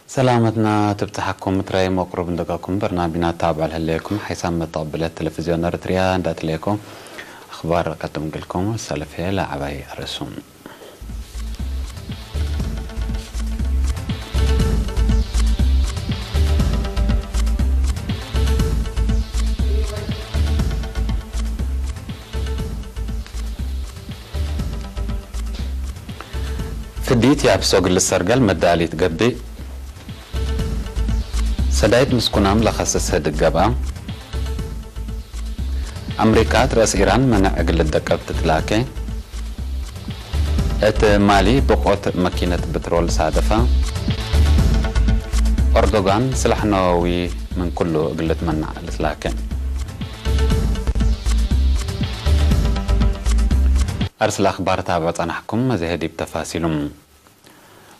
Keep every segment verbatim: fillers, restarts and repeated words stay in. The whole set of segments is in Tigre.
ሰላመትና ትብጽሐኩም፣ ምትራይ መቅሩብ እንደጋኩም በርናምጅና ታብዕ ለህሌኩም፣ ሓይሳም መተቅብለት ቴሌቪዝዮን ኤረትርያ እንዳትሌኩም፣ አኽባር ቀድም ግልኩም፣ ሰልፍ ለዐባይ አርእሱም። ፍዲት ያብሶ እግል ልሰርገል መዳሊት ገብእ፣ ሰዳይት ምስኩናም ለከስስ ህድግ ገብአ፣ አምሪካ እት ረአስ ኢራን መነዕ እግል ልደቀብ ትትላኬ፣ እት ማሊ ብቆት መኪነት ብትሮል ሳደፈ፣ ኦርዶጋን ስላሕ ነወዊ ምን ኩሉ እግል ልትመናዕ ልትላኬ። አርስለ አኽባር ታብዖ ጸናሕኩም፣ መዜሀ ዲብ ተፋሲሉም።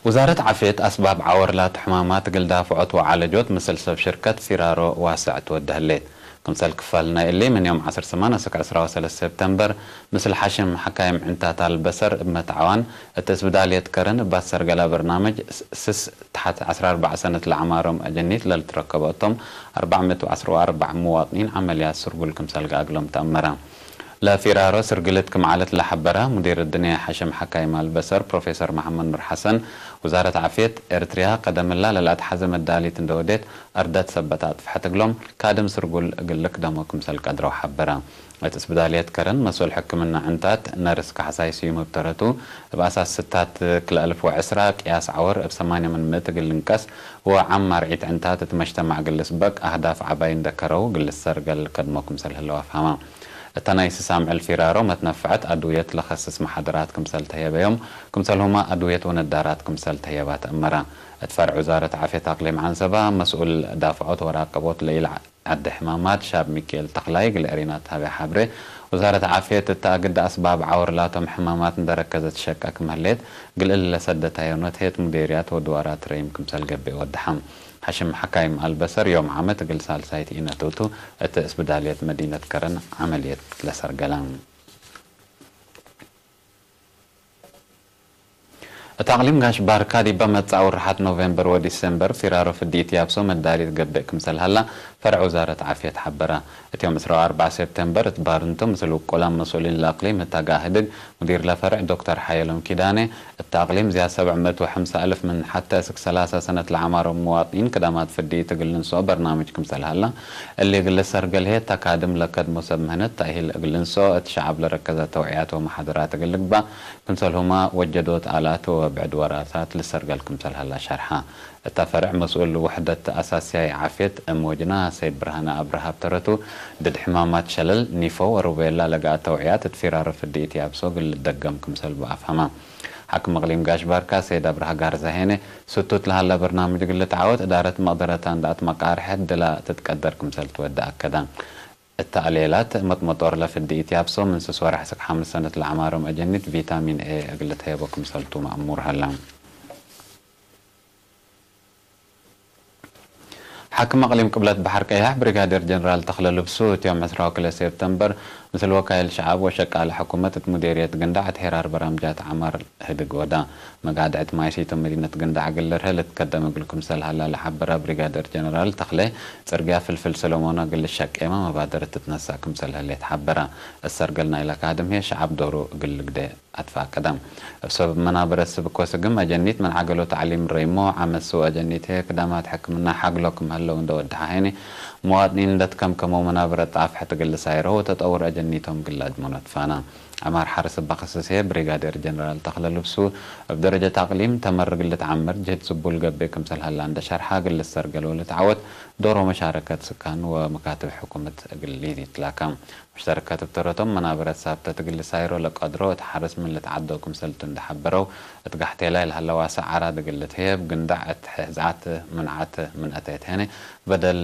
ውዛረት ዓፍየት አስባብ ዐወር ላቱ ሕማማት እግል ዳፍዖት ወዓለጆት ምስል ሰብ ሽርከት ፊራሮ ዋስዕ ትወዴ ህሌት። ክምሰል ክፋል ናይ እሊ፣ ምን ዮም ዐስር ሰማን አስክ ዕስራ ወሰለስ ሰብተምበር፣ ምስል ሐሽም ሐካይም ዕንታት አልበሰር እብ መትዓዋን እት እስብዳልየት ከረን እብ አሰርገላ በርናምጅ ስስ ተሐት ዐስራ አርበዕ ሰነት ለአዕማሮም አጀኒት ለልትረከቦ እቶም አርበዕ ምእት ወዐስር ወአርበዕ ሙዋጥኒን ዐመልያት ስርጉል ክምሰል ገአግሎም ተአመረ። ለፊራሮ ስርግልት ክም ዐለት ለሐበረ ሙዲር እድንየ ሐሽም ሐካይም አልበሰር ፕሮፌሰር መሐመድ ኑር ሐሰን፣ ውዛረት ዓፍየት ኤርትርያ ቀደምላ ለለአትሐዘ መዳሊት እንደ ወዴት አርደት ሰበት አጥፍሐት እግሎም ካድም ስርጉል እግል ልክደሞ ክምሰል ቀድረው ሐበረ። እት እስብዳልየት ከረን መስኡል ሕክምና ዕንታት ነርስ ካሕሳይ ስዩም እብ ተረቱ፣ እብ አሳስ ስታት ክልኤ አልፍ ወዕስራ ቅያስ ዐወር እብ ሰማንየ ምን ምእት እግል ልንቀስ ወዓም አርዒት ዕንታት እት መጅተማዕ እግል ልስበቅ አህዳፍ ዐባይ እንደ ከረው እግል ልሰርገል ከድሞ ክምሰል ህለው አፍሀመ። እተ ናይ ስስ አምዕል ፊራሮ መትነፈዐት አድውየት ለከስስ መሓደራት ክምሰል ተህየበዮም፣ ክምሰልሁመ አድውየት ወነዳራት ክምሰል ተህየባ ተአመረ። እት ፈርዕ ውዛረት ዓፍየት አቅሊም ዐንሰበ መስኡል ዳፍዖት ወራቀቦት ለኢለ ዐዲ ሕማማት ሻብ ሚክኤል ተኽላይ እግል ኤሪና ተሀቤ ሐብሬ፣ ውዛረት ዓፍየት እተ አግደ አስባብ ዐወር ላቶም ሕማማት እንደ ረከዘት ሸቀ ክም ህሌት፣ እግል እሊ ለሰደታዮ ኖትሄት ሙዴርያት ወድዋራት ረይም ክምሰል ገብእ ወደሐ። ሐሽም ሐካይም አልበሰር ዮም ዓመት እግል ሳልሳይት ኢነቶቱ እት እስብዳልየት መዲነት ከረን ዐመልየት ለሰርገለ። እት አቅሊም ጋሽ ባርካ ዲበ መጽአ ውርሓት ኖቬምበር ወዲሴምበር ፊራሮ ፍዲት ያብሶ መዳሊት ገብእ ክምሰል ሀላ ፈርዕ ውዛረት ዓፍየት ሐበረ። እት ዮም ዕስራ ወአርበዕ ሴፕቴምበር እት ባርንቶ ምስል ውቁላም መስኡሊን ለአቅሊም ህታጋ ህድግ ሙዲር ለፈርዕ ዶክተር ሓየሎም ኪዳኔ፣ እት አቅሊም ዝያድ ሰብዕ ምእት ወሐምሳ አልፍ ምን ሐቴ እስክ ሰላሳ ሰነት ለዐማሮም ሙዋጥኒን ክዳማት ፍዲት እግል ልንስኦ በርናምጅ ክምሰል ሀላ፣ እሊ እግል ልሰርገል ህዬ ተካድም ለከድሞ ሰብ ምህነት ተእሂል እግል ልንስኦ እት ሸዐብ ለረከዘ ተውዕያት ወመሓደራት እግል ልግባእ ክምሰልሁመ ወጀዶት አላት ወብዕድ ወራታት ልሰርገል ክምሰል ሀላ ሸርሐ። እተ ፈርዕ መስኡል ውሕደት አሳስያይ ዓፍየት እም ወጅና ሰይድ ብርሃነ አብርሃ እብ ተረቱ፣ ድድ ሕማማት ሸለል፣ ኒፎ ወሩቤላ ለገአ ተውዕያት እት ፊራሮ ፍዲት ያብሶ እግል ልደገም ክምሰልቡ አፍሀመ። ሓክም እቅሊም ጋሽ ባርካ ሰይድ አብርሃ ጋርዛሄነ፣ ስቱት ለሀለ በርናምጅ እግል ልትዓወት እዳረት መቅደረታ እንደ አትመቃርሐት ድላ ትትቀደር ክምሰል ትወደ አከደ። እተ አሌላት መጥመጦር ለፍዲት ያብሶ ምን ስስ ወርሕ እስክ ሐምስ ሰነት ለዐማሮም አጀኒት ቪታሚን ኤ እግል ልትሄቦ ክምሰልቱ መእሙር ሀለ። ሓክም አቅሊም ቅብለት በሐር ቀያሕ ብሪጋዴር ጀነራል ተኽለ ልብሱ፣ እት ዮም ዕስራ ወክልኤ ሴፕተምበር፣ ምስል ወካይል ሸዐብ ወሸቃለ ሕኩመት እት ሙዴርየት ግንዳዕ እት ሄራር በራምጃት ዐማር ህድግ ወዳ። መጋድዕት ማይሲቶም መዲነት ግንዳዕ እግል ልርሀ ልትከደም እግል ክምሰል ሀላ ለሐበረ ብሪጋዴር ጀነራል ተኽለ፣ ጽርግያ ፍልፍል ሰለሞን እግል ልሸቄመ መባደረት ትትነሰእ ክምሰል ህሌት ሐበረ። እሰርገል ናይለ ካድም ህዬ ሸዐብ ዶሩ እግል ልግዴ አትፋቀደ። እብ ሰበብ መናበረት ስብኮ ስግም አጀኒት ምን ዐገሎ ተዕሊም ረይሞ፣ ዐመት ስው አጀኒት ህዬ ክዳማት ሕክምና ሐግሎ ክም ሀለው እንደ ወደሐ ሄኒ፣ መዋጥኒን እንደ ትከምከመው መናበረት ጣፍሐት እግል ልሳይረው ወተጠውር አጀኒቶም እግል ለአድመኖ ትፋና። ዐማር ሐርስ እበ ክስስ ህዬ ብሪጋዴር ጀነራል ተኽለ ልብሱ፣ እብ ደረጀት አቅሊም ተመር እግል ልትዐምር ጅህድ ስቡል ገብእ ክምሰል ሀላ እንደ ሸርሐ፣ እግል ልሰርገል ወልትዐወት ዶሮ መሻረከት ስካን ወመካትብ ሕኩመት እግል ሊትላከ። ሙሽተረከት እብ ተረቶም መናበረት ሳብተት እግል ልሳይሮ ለቀድሮ እት ሐርስ ምን ልትዓደው ክምሰልቱ እንደ ሐበረው፣ እት ጋሕቴላይ ለሀለ ዋሰዕ አራድ እግል ልትህየብ ግንዳዕ እት ሕዝዓት ምንዓት ምን አተየት ሄነ በደል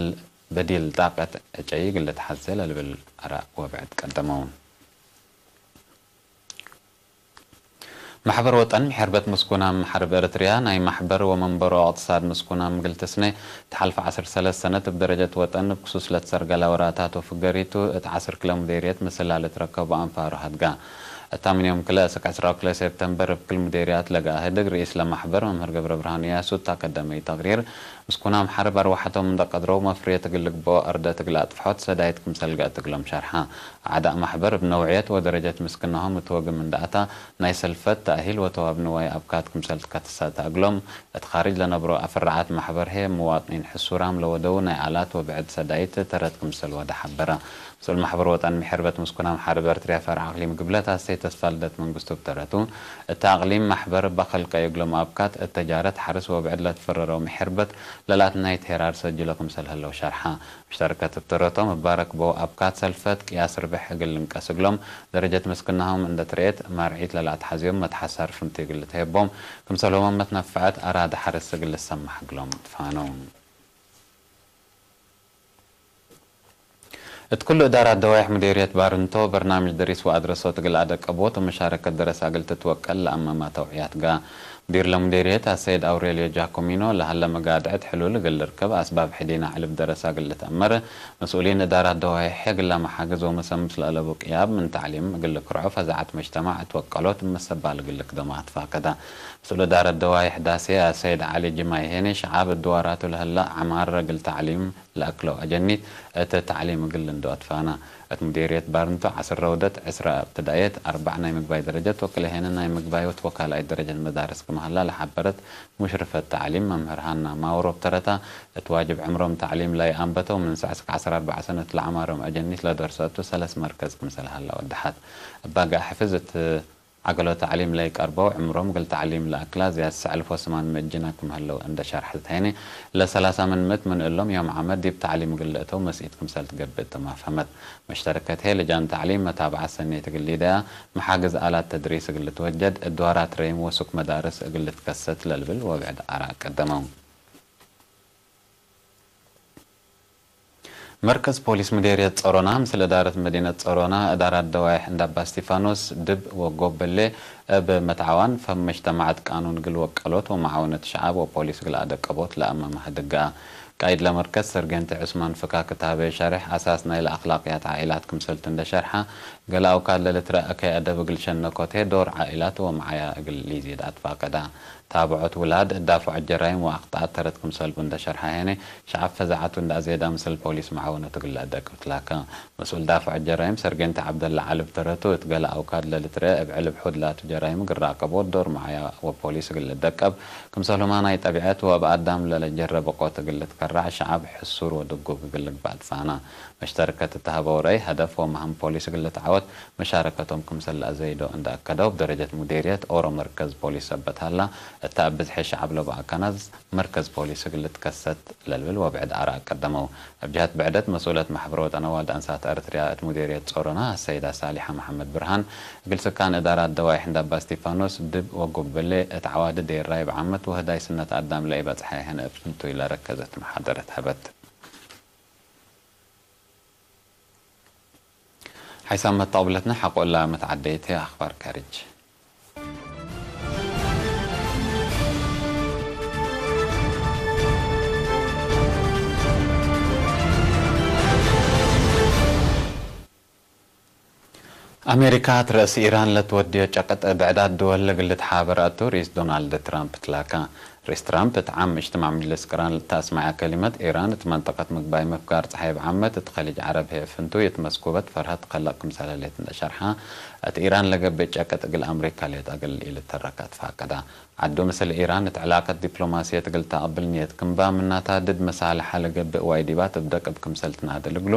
በዲል ጣቀት ዕጨይ እግል ልትሐዜ ለልብል አራእ ወብዕድ ቀደመው። መሕበር ወጠን ምሕርበት ምስኩናም ሐርብ ኤረትርያ፣ ናይ መሕበር ወመንበሮ እቅትሳድ ምስኩናም እግል ትስኔ፣ እት ሐልፈ ዐስር ሰለስ ሰነት እብ ደረጀት ወጠን እብ ክሱስ ለትሰርገለ ወራታት ወፍገሪቱ፣ እት ዐስር ክለ ሙዴርየት ምስላ ልትረከቡ አንፋሩ ሀድጋ። እታ ምን ዮም ክለ እስክ ዕስራ ወክለ ሴፕተምበር እብ ክል ሙዴርያት ለገአ ህድግ፣ ርኢስ ለመሕበር መምህር ገብረብርሃን እያሱ እት አከደመዩ ተቅሪር፣ ምስኩናም ሐርብ አርወሐቶም እንደ ቀድረው መፍርየት እግል ልግበኦ አርደት እግል አጥፍሖት ሰዳይት ክምሰል ገአት እግሎም ሸርሐ። አዕዳእ መሕበር እብ ነውዕየት ወደረጀት ምስክናሆም እት ወግም እንደ አታ፣ ናይ ሰልፈት፣ ተእሂል ወተዋብ ንዋይ አብካት ክምሰል ትከትሰተ እግሎም፣ እት ካርጅ ለነብሮ አፍራዓት መሕበር ህዬ፣ ምዋጥኒን ሕሱራም ለወደዉ ናይ አላት ወብዕድ ሰዳይት ተረት ክምሰል ወደ ሐበረ። መስኡል መሕበር ወጠን ምሕርበት ምስኩናም ሐርብ ኤረትርያ ፈርዕ አቅሊም ግብለት አሰይ ተስፋልደት መንግስቱ እብ ተረቱ፣ እተ አቅሊም መሕበር እበ ከልቀዩ እግሎም አብካት፣ እት ተጃረት ሐርስ ወብዕድ ለትፈረረው ምሕርበት ለላትናይት ሄራር ሰጅሎ ክምሰል ህለው ሸርሐ። መሽተረከት እብ ተረቶም እበ ረክበው አብካት ሰልፈት ቅያስ ርብሕ እግል ልንቀስ እግሎም፣ ደረጀት ምስክናሆም እንደ ትርኤት፣ ማርዒት ለለአትሐዝዮም መትሐሳር ፍንቱይ እግል ልትሄቦም፣ ክምሰልሆም መትነፈዐት አራደ ሐርስ እግል ልሰማሕ እግሎም ትፋነው። እት ኩሉ እዳራት ደዋይሕ ሙዴርየት ባርንቶ፣ በርናምጅ ደሪስ ወአድረሶት እግል አደቀቦት ወመሻረከት ደረሰ እግል ትትወቀል ለአመማ ተውዕያት ገአ። ሙዲር ለሙዴርየት አሰይድ አውሬልዮ ጃኮሚኖ፣ ለሀለ መጋድዐት ሕሉል እግል ልርከብ አስባብ ሕዴና ዕልብ ደረሰ እግል ልትአመር፣ መስኡሊን እዳራት ደዋይሕ እግል ለመሓግዝ ወመሰምስ ለአለቡ ቅያብ ምን ተዕሊም እግል ልክርዖ ፈዛዐት መጅተማዕ እት ወቀሎት መሰባል እግል ልክደሞ አትፋቀደ። መስኡል እዳረት ደዋይሕ ዳሴ አሰይድ ዐሊ ጅማይ ሄኔ፣ ሸዓብ እድዋራቱ ለህለ ዐማር እግል ተዕሊም ለአክለው አጀኒት እት ተዕሊም እግል ልንዶ አትፋና። እት ሙዴርየት ባርንቶ ዐስር ረውደት፣ ዕስረ እብትዳእየት፣ አርበዕ ናይ ምግባይ ደረጀት ወክልኤ ሄነ ናይ ምግባይ ወትወካላይት ደረጀት መዳርስ ክም ሀላ ለሐበረት ሙሽርፈት ተዕሊም መምህር ሀና ማውሮ እብ ተረታ፣ እት ዋጅብ ዕምሮም ተዕሊም ለይአንበተው ምን ሰዕ እስክ ዐስር አርበዕ ሰነት ለዐማሮም አጀኒት ለደርሰቱ ሰለስ መርከዝ ክምሰል ሀላ ወደሐት። እብ አግዐ ሕፍዝ እት ዐገሎ ተዕሊም ለይቀርበው ዕምሮም እግል ተዕሊም ለአክላ ዝያድ ሰዕልፍ ወስማን ምእት ጅና ክም ህለው እንደ ሸርሐት ሄኒ፣ ለሰላሳ ምን ምእት ምን እሎም ዮም ዓመት ዲብ ተዕሊም እግል ልእተው መስኢት ክምሰል ትገብእ ትማፈመት። መሽተረከት ህዬ ልጃን ተዕሊም መታብዐት ሰኔት እግል ሊደያ፣ መሓግዝ አላት ተድሪስ እግል ልትወጀድ፣ እድዋራት ረይም ወሱክ መዳርስ እግል ልትከሰት ለልብል ወብዕድ አራእ ቀደመው። መርከዝ ፖሊስ ምዴርየት ጸሮና ምስል እዳረት መዲነት ጸሮና፣ እዳራት ደዋይሕ እንዳባ እስቲፋኖስ፣ ድብ ወጎበሌ እብ መትዓዋን ፈም መጅተማዐት ቃኑን እግል ወቀሎት ወመዓውነት ሸዓብ ወፖሊስ እግል አደቀቦት ለአመመ ህድግ ገአ። ቃይድ ለመርከዝ ሰርጌንት ዑስማን ፍካክ እት ሀበየ ሸሬሕ፣ አሳስ ናይለ አክላቅያት ዓኢላት ክምሰልቱ እንደ ሸርሐ፣ ገሌ አውካድ ለልትረአ እከይ አደብ እግል ሸነኮት ህዬ ዶር ዓኢላት ወመዓያ እግል ሊዚድ አትፋቀዳ። ታብዖት ውላድ፣ ዳፍዖት ጀራይም ወአክጠአት ተረት ክምሰልቡ እንደ ሸርሐ ሄነ፣ ሸዐብ ፈዛዐቱ እንደ አዜዳ ምስል ፖሊስ መዓውነት እግል ለአደቅብ ትላከ። መስኡል ዳፍዖት ጀራይም ሰርጌንት ዐብደላ ዐሊ እብ ተረቱ፣ እት ገሌ አውካድ ለልትረአ እብ ዕልብ ሑድ ላቱ ጀራይም እግል ራቀቦት ዶር መዓያ ወፖሊስ እግል ልደቀብ፣ ክምሰልሁማ ናይ ጠቢዐት ወእብ አዳም ለለጀረ ብቆት እግል ልትከራዕ ሸዐብ ሕሱር ወድጉግ እግል ልግባእ ትፋና። መሽተርከት እት ሀበው ረአይ፣ ሀደፍ ወመሀም ፖሊስ እግል ልትዓወት መሻረከቶም ክምሰል ለአዘይዶ እንደ አከደው፣ እብ ደረጀት ሙዴርየት ኦሮ መርከዝ ፖሊስ ሰበት ሀላ፣ እተ እብ ብዝሒ ሸዐብ ለበአካናዝ መርከዝ ፖሊስ እግል ልትከሰት ለልብል ወብዕድ አራእ ቀደመው። እብ ጀሀት ብዕደት፣ መስኡለት መሕበር ወጠን አዋልድ አንሳት ኤረትርያ እት ሙዴርየት ጾሮና አሰይዳ ሳሊሐ መሐመድ ብርሃን፣ እግል ስካን እዳራት ደዋይሕ እንዳባ እስቲፋኖስ፣ ድብ ወጎበሌ እት ዐዋዲ ዴራይ እብ ዓመት ወህዳይ ስነት አዳም ለኢበጽሐ ሄነ እብ ፍንቱይ ለረከዘት መሓደረት ሀበት። ሓይሳም መተቅብለትነ ሐቆ እላ መትዓደይት ህይ አኽባር ካርጅ። አሜሪካ፣ እት ረእሲ ኢራን ለትወድዮ ጨቅጥ ብዕዳት ድወል እግል ልትሓበር አቱ፣ ርኢስ ዶናልድ ትራምፕ ትላከ። ርኢስ ትራምፕ እት ዓም እጅትማዕ ምጅልስ ቅራን ለተአስመዐ ከሊመት፣ ኢራን እት መንጠቀት ምግባይ ምፍጋር ጸሓይ እብ ዓመት፣ እት ከሊጅ ዐረብ ህይ ፍንቱይ እት መስኩበት ፈርሀት ትከለቅ ክምሰል ህሌት እንደ ሸርሐ፣ እት ኢራን ለገብእ ጨቅጥ እግል አምሪካ ሌጠ እግል ኢልተረክ አትፋቀዳ። ዐዱ ምስል ኢራን እት ዕላቀት ዲፕሎማስየት እግል ተአቅብል ንየት ክምባ፣ ምናታ ድድ መሳልሐ ለገብእ ዋይዲባት እብ ደቅብ ክምሰል ትናድል እግሉ፣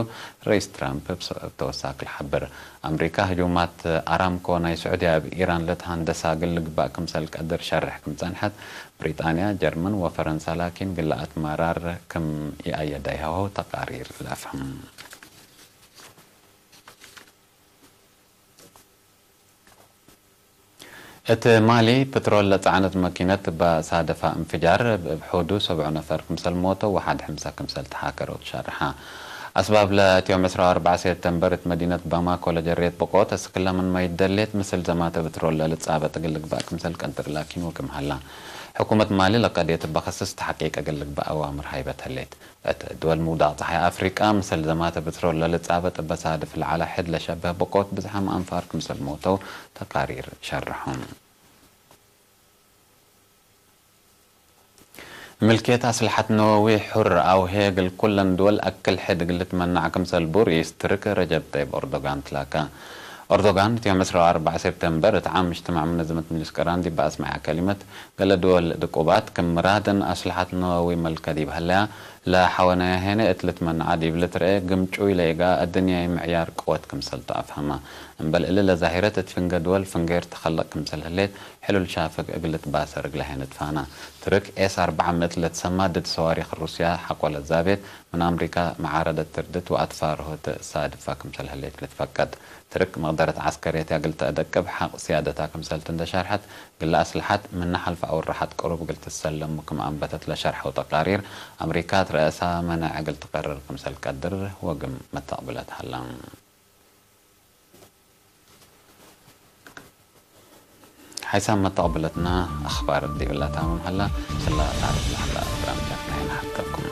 ርኢስ ትራምፕ እብ ስ-፣ እብ ተወሳክ ለሐብር። አምሪካ ህጁማት አራምኮ ናይ ስዑድያ እብ ኢራን ለትሃንደሳ እግል ልግባእ ክምሰል ቀድር ሸርሕ ክም ጸንሐት፣ ብሪጣንያ፣ ጀርመን ወፈረንሳ ላኪን ግለ አትማራር ክም ኢአየዳይሀው ተቃሪር ለአፍህም። እት ማሊ፣ ፕትሮል ለጸዕነት መኪነት እበ ሳደፋ እንፍጃር፣ እብ ሑዱ ሰብዑ ነፈር ክምሰል ሞተው ወሐድ ሕምሳ ክምሰል ተሓከረው ትሸርሐ። አስባብ ለእት ዮም ዕስራ ወአርበዕ ሴፕተምበር እት መዲነት ባማኮ ለጀሬት ብቆት እስክለ ምንመ ይደሌት ምስል ዘማተ ብትሮል ለልጻበጥ እግል ልግባእ ክምሰል ቀድር ላኪን ወክም ሀላ። ሕኩመት ማሊ ለቀድየት እበ ከስስ ተሐቂቅ እግል ልግባእ አዋምር ሀይበት ህሌት። እት ድወል ምውዳቅ ጸሓይ አፍሪቃ ምስል ዘማተ ብትሮል ለልጻበጥ እበ ሳድፍ ለዐለ ሕድ ለሸበህ ብቆት ብዝሓም አንፋር ክምሰል ሞተው ተቃሪር ሸርሖም። ምልክየት አስልሐት ነወዊ ሑር አውሄ እግል ኩለን ድወል አክል ሕድ እግል ልትመናዕ ክምሰል ቡ ርኢስ ትርክ ረጀብ ጠይብ ኦርዶጋን ትላከ። ኦርዶጋን እት ዮም ዕስራ ወአርበዕ ሴፕተምበር እት ዓም እጅትማዕ መነዘመት ምጅልስ ቅራን ዲብ አስመዐ ከሊመት፣ ገሌ ድወል ድቁባት ክም ምራደን አስልሐት ነወዊ መልከ ዲብ ሀለያ፣ ለሐወናያ ሄነ እት ልትመናዓ ዲብ ልትረኤ ግምጩይ ለኢገአ አድንያይ ምዕያር ቅወት ክምሰል ተአፍሀመ። እምበል እሊ ለዛሂረት እት ፍንጌ ድወል ፍንጌር ተከለቅ ክምሰል ህሌት፣ ሕሉል ሻፍግ እግል ልትባሰር እግለ ሄነ ትፋና። ትርክ ኤስ አርበዕ ምእት ለትሰማ ድድ ሰዋሪክ ሩስያ ሐቆ ለዛቤት፣ ምን አምሪካ መዓረደት ትርድት ወአትፋርሆት ሳድፋ ክምሰል ህሌት ልትፈቀድ። ትርክ መቅደረት ዐስከርየትያ እግል ተአደቅብ ሐቅ ስያደታ ክምሰልቲ እንዴ ሸርሐት፣ ግለ አስልሐት ምነ ሐልፍ አውርሐት ቅሩብ እግል ትሰለሙ ክም አንበተት ለሸርሐው ተቃሪር፣ አምሪካ እት ረአሳ መነዕ እግል ትቀርር ክምሰል ቀድር ወግም መተቅብለት ሀላ። ሐይሳም መተቅብለትና አኽባር ዲብላ ታምም ሀላ። ስላ ታርፍ ለሀላ በርናምጃትና ሐተኩም።